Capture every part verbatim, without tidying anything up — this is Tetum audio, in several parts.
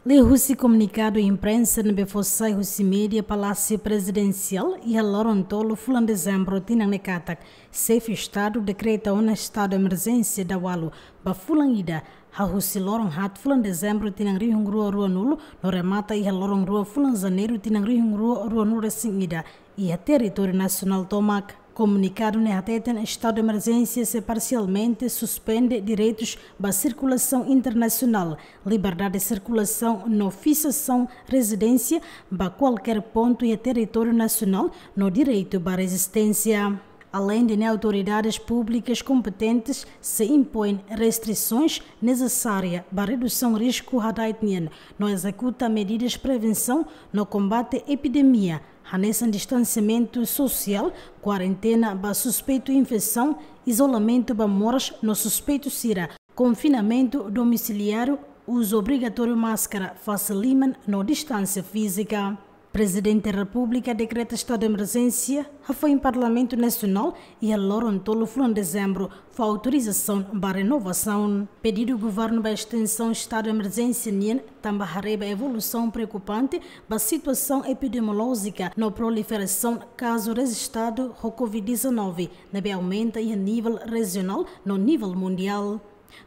Liuhusi komunikadu imprensa ne'ebé fó sai husi média Palásiu Prezidensiál iha loron tolu fulan Dezembru tinan ne'e katak, Xefe Estadu dekreta ona estadu emerjénsia daualu ba fulan ida, hahú husi loron haat fulan Dezembru tinan rihun rua rua-nulu no remata iha loron rua fulan Janeiru tinan rihun rua rua-nulu resin ida, iha territóriu nasionál tomak. Komunikadu ne'e hateten estadu emerjénsia sei parsialmente suspende direitus ba sirkulasaun internasionál, liberdade de sirkulasaun no fiksasaun rezidénsia ba kualkér pontu iha territóriu nasionál no direitu ba rezisténsia. Aleinde ne'e, autoridades públikas kompetentes sei impoin restrisaun nesesária ba redusaun risku hada'et nian no ezekuta medidas prevensaun no kombate epidemia, hanesan distansiamentu sosiál, kuarentena ba suspeitu infesaun, izolamentu ba moras no suspeitu sira, konfinamentu domisiliáriu, uzu obrigatóriu máskara, fase liman no distánsia fízika. Prezidente Repúblika dekreta estadu emerjénsia, hafoin Parlamentu Nasionál iha loron tolu fulan Dezembru fó autorizasaun ba renovasaun. Pedidu governu ba estensaun estadu emerjénsia nian tanba haree ba evolusaun preokupante ba situasaun epidemiolójika no proliferasaun kazu rejistadu ho covid dezanove, ne'ebé aumenta iha nivel rejionál no nivel mundiál.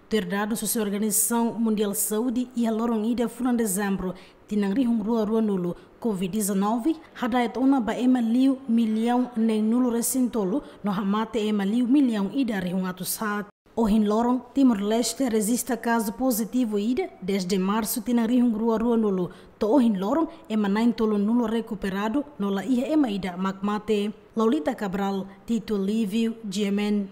Tuir dadus husi Organizasaun Mundiál Saúde, iha loron ida fulan Dezembru tinan rihun rua rua-nulu, covid dezanove hada'et ona ba ema liu millaun neen-nulu resin tolu no hamate ema liu millaun ida rihun atus haat. Ohin loron, Timor-Leste rejista kazu pozitivu ida dezde Marsu tinan rihun rua rua-nulu, to'o ohin loron ema na'in-tolu-nulu rekuperadu no la iha ema ida mak mate. Laulita Cabral, Tito Lívio, G M N.